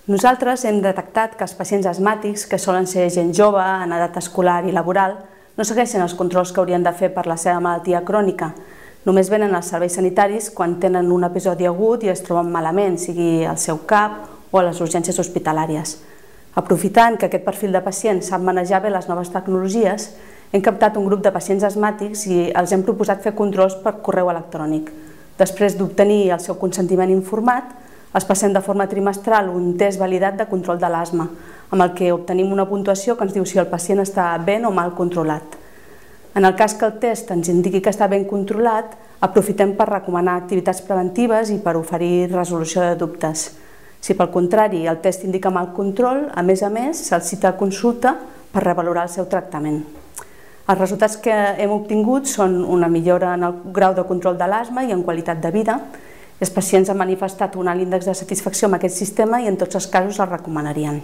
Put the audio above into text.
Nosaltres hem detectat que els pacients asmàtics, que solen ser gent jove, en edat escolar i laboral, no segueixen els controls que haurien de fer per la seva malaltia crònica. Només venen als serveis sanitaris quan tenen un episodi agut i es troben malament, sigui al seu CAP o a les urgències hospitalàries. Aprofitant que aquest perfil de pacients sap manejar bé les noves tecnologies, hem captat un grup de pacients asmàtics i els hem proposat fer controls per correu electrònic. Després d'obtenir el seu consentiment informat, els passem de forma trimestral un test validat de control de l'asma, amb el que obtenim una puntuació que ens diu si el pacient està ben o mal controlat. En el cas que el test ens indiqui que està ben controlat, aprofitem per recomanar activitats preventives i per oferir resolució de dubtes. Si pel contrari el test indica mal control, a més, se'l cita a consulta per revalorar el seu tractament. Els resultats que hem obtingut són una millora en el grau de control de l'asma i en qualitat de vida. Els pacients han manifestat un alt índex de satisfacció amb aquest sistema i en tots els casos el recomanarien.